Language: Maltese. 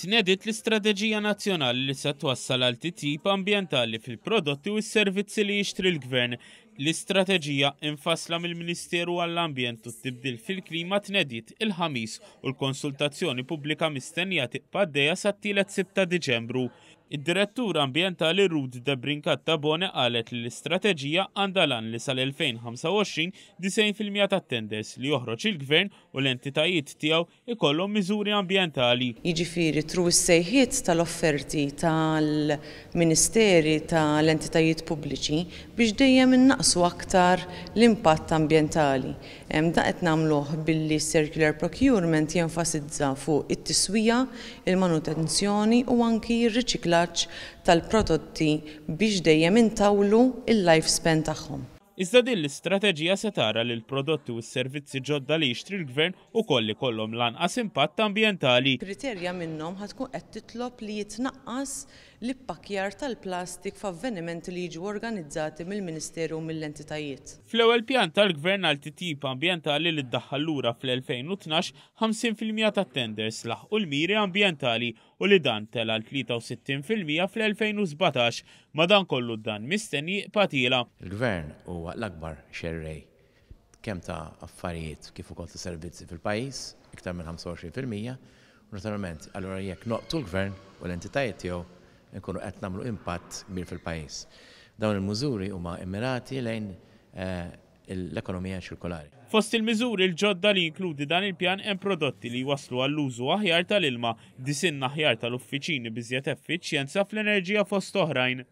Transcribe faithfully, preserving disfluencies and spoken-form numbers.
Tnediet l-istrateġija nazzjonali li se twassal għal titjib ambjentali fil-prodotti u s-servizzi li jixtri l-Gvern. L-istrateġija infassla mill-Ministeru għall-Ambjent u t-Tibdil fil-Klima tnediet il-Ħamis u l-konsultazzjoni pubblika mistennija tibqa' għaddejja sat-tielet Sibt ta' Diċembru. Id-Direttur Ambjentali Ruth Debrincat Tabone qalet li l-istrateġija għandha l-għan li sal-elfejn ħamsa u għoxrin disgħin fil-mija tat-tenders li joħroġ il-Gvern u l-entitajiet tiegħu ikollhom miżuri ambjentali. Jiġifieri through is-sejħiet tal-offerti tal-ministeri tal-entitajiet pubbliċi biex dejjem innaqsu aktar l-impatt ambjentali. Dan qed nagħmluh billi circular procurement jenfasizza fuq it-tiswija, il-manutenzjoni u anki r-riċiklaġġ tal-prodotti biex dejjem intawlu il-lifespan tagħhom. Iżda din l-istrateġija se tara li l-prodotti u s-servizzi ġodda li jixtri l-Gvern ukoll ikollhom l-anqas impatt ambjentali. Kriterja minnhom ħa tkun qed titlob li jitnaqqas l-ippakkjar tal-plastik f'avvenimenti li jiġu organizzati mill-Ministeru u mill-entitajiet. Fl-ewwel pjan tal-Gvern għal titjib ambjentali li ddaħħal lura fl-elfejn u tnax, ħamsin fil-mija tat-tenders laħqu l-miri ambjentali u li dan tela' għal tlieta u sittin fil-mija fl-elfejn u sbatax. Madankollu dan mistenni jibqa' tiela'. Il-Gvern huwa l-akbar xerrej kemm ta' affarijiet kif ukoll ta' servizzi fil-pajjiż, iktar minn ħamsa u għoxrin fil-mija, u naturalment allura jekk noqtu l-Gvern u l-entitajiet tiegħu nkunu qed nagħmlu impatt kbir fil-pajjiż. Dawn il-miżuri huma immirati lejn, eh, l-ekonomija ċirkolari. Fost il-miżuri l-ġodda li jinkludi dan il-pjan hemm prodotti li jwasslu għall-użu aħjar tal-ilma, disinn aħjar tal-uffiċini biżjed effiċjenza fl-enerġija fost oħrajn.